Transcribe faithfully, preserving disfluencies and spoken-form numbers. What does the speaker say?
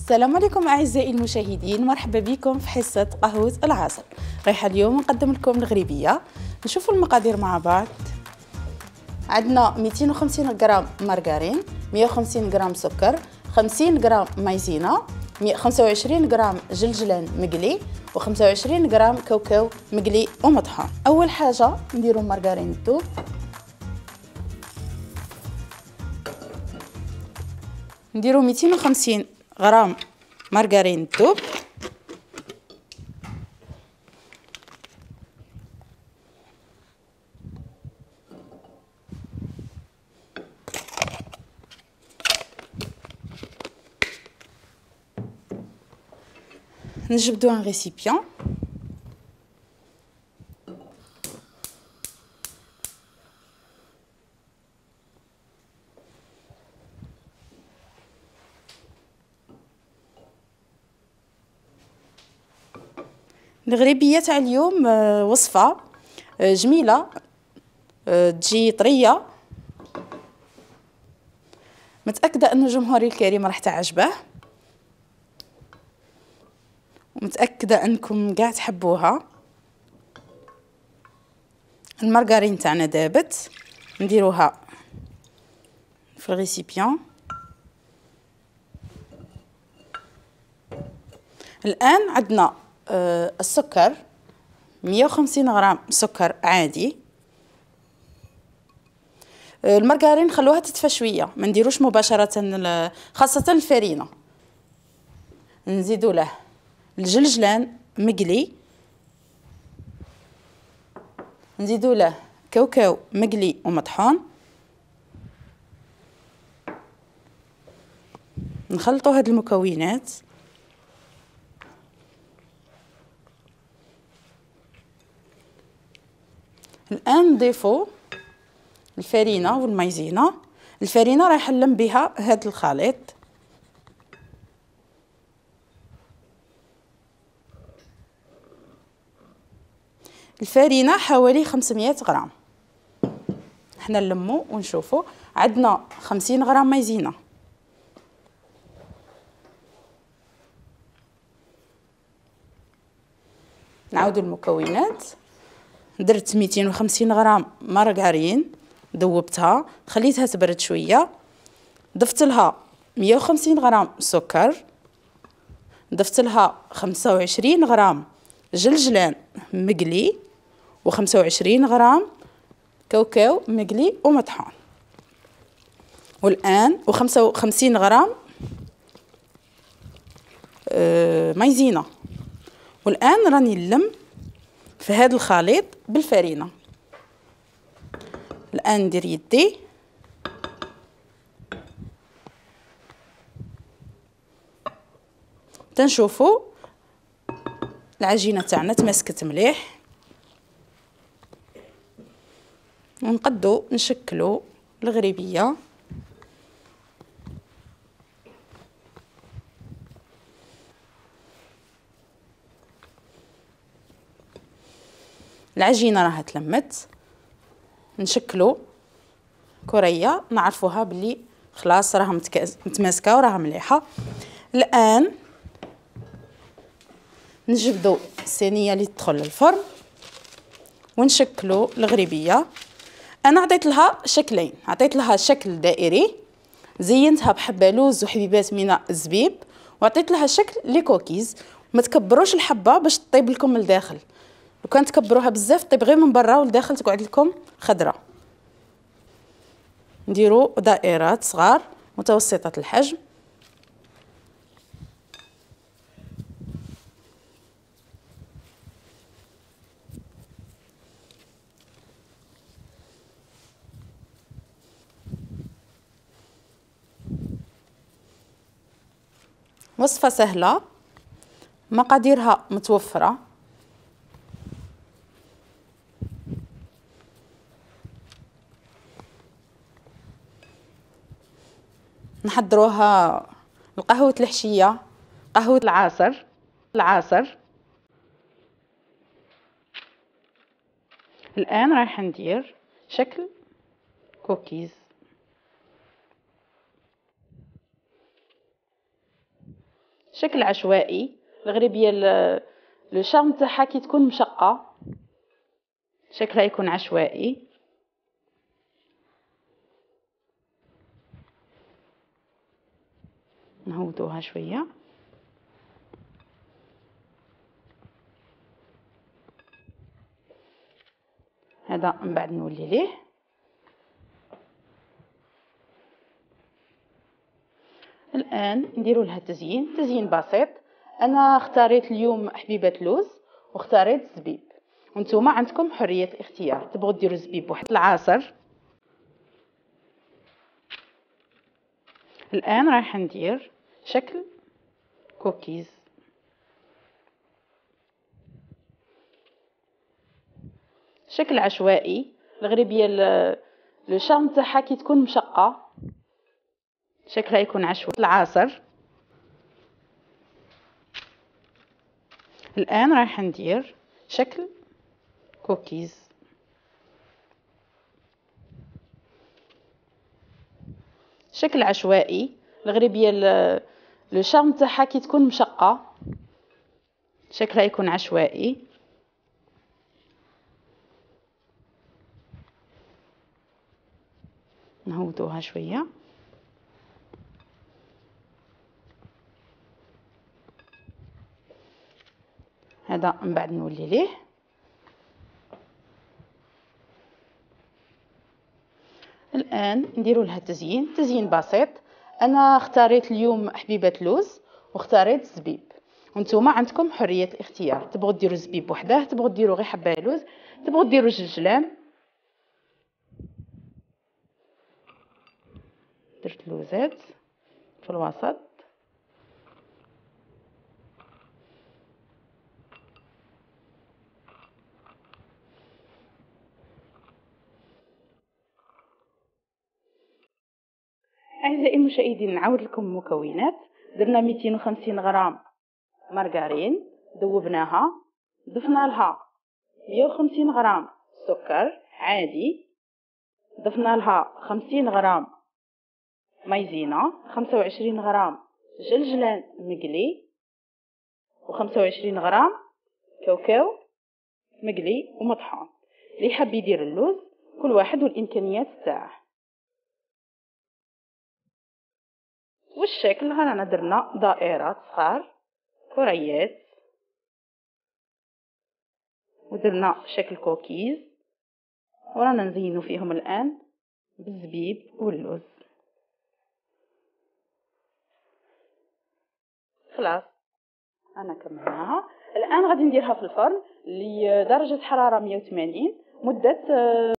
السلام عليكم أعزائي المشاهدين، مرحبا بكم في حصة قهوة العصر. رايحة اليوم نقدم لكم الغريبية. نشوفوا المقادير مع بعض. عندنا مئتين وخمسين غرام مارغرين، مئة وخمسين غرام سكر، خمسين غرام مايزينا، خمسة وعشرين غرام جلجلان مقلي، وخمسة وعشرين غرام كاوكاو مقلي ومطحون. أول حاجة نديرو مارغرين الذوب، نديرو مئتين وخمسين غرام مارغرين الذوب، نجبدو ان ريسيبيون، الغريبيه تاع اليوم وصفه جميله، تجي طريه، متاكده ان جمهوري الكريم راح تعجبه، ومتاكده انكم قاع تحبوها. المارغرين تاعنا دابت، نديروها في الريسيبيون. الان عندنا آه السكر، مئة وخمسين غرام سكر عادي. آه المارغرين خلوها تدفى شويه، ما نديروش مباشره، خاصه الفرينه. نزيدو له الجلجلان مقلي، نزيدو له كاوكاو مقلي ومطحون، نخلطوا هاد المكونات. الان نضيفوا الفرينه والمايزينا. الفرينه راح نلم بها هاد الخليط، الفرينه حوالي خمسمئة غرام. حنا نلمو ونشوفوا. عندنا خمسين غرام مايزينا، نعاودوا المكونات. درت مئتين وخمسين غرام مارغرين، ذوبتها خليتها تبرد شويه، ضفت لها مئة وخمسين غرام سكر، ضفت لها خمسة وعشرين غرام جلجلان مقلي، وخمسة وعشرين غرام كاوكاو مقلي ومطحون، والآن وخمسة وخمسين غرام آه مايزينا. والآن راني نلم في هذا الخليط بالفرينة. الآن ندير يدي، تنشوفوا العجينة تاعنا تماسكت مليح، ونقدو نشكلو الغريبية. العجينة راها تلمت، نشكلو كرية نعرفوها بلي خلاص راها متماسكة وراها مليحة. الآن نجبدو الصينية اللي تدخل للفرن ونشكلو الغريبية. انا عطيت لها شكلين، عطيت لها شكل دائري، زينتها بحبة لوز وحبيبات من الزبيب، وعطيت لها شكل لي كوكيز. ما تكبروش الحبة باش تطيب لكم من الداخل، لو كان تكبروها بزاف طيب غير من برا والداخل تقعد لكم خضرة. نديرو دائرات صغار متوسطة الحجم، وصفة سهلة، مقاديرها متوفرة. نحضروها لقهوة الحشية، قهوة العصر العصر الآن رايحة ندير شكل كوكيز. شكل عشوائي. الغريبيه لو شارم تاعها كي تكون مشقه شكلها يكون عشوائي. نهودوها شويه. هذا من بعد نولي ليه. الان نديروا لها تزيين تزيين بسيط. انا اختاريت اليوم حبيبه لوز واختاريت الزبيب، وانتم عندكم حريه الاختيار، تبغوا ديروا الزبيب واحد العصر. الان راح ندير شكل كوكيز. شكل عشوائي. الغريبيه لو شارم تاعها كي تكون مشقه شكلها يكون عشوائي. العصر. الان راح ندير شكل كوكيز. شكل عشوائي. الغريبيه لو شارم تاعها كي تكون مشقه شكلها يكون عشوائي. نهودوها شويه. هذا من بعد نولي ليه. الان نديروا لها تزيين تزيين بسيط. انا اختاريت اليوم حبيبه لوز واختاريت الزبيب، وانتم عندكم حريه الاختيار، تبغوا ديروا الزبيب وحده، تبغوا ديروا غير حبه لوز، تبغوا ديروا جلجلان. درت لوزات في الوسط. أعزائي المشاهدين نعاود لكم المكونات. درنا مئتين وخمسين غرام مارغرين ذوبناها، ضفنا لها مئة وخمسين غرام سكر عادي، ضفنا لها خمسين غرام مايزينا، خمسة وعشرين غرام جلجلان مقلي، وخمسة وعشرين غرام كاوكاو مقلي ومطحون. اللي حاب يدير اللوز كل واحد والامكانيات تاعه. والشكل رانا درنا دائرات صغار كريات، ودرنا شكل كوكيز، ورانا نزينو فيهم الان بالزبيب واللوز. خلاص انا كملناها. الان غادي نديرها في الفرن لدرجه حراره مئة وثمانين مده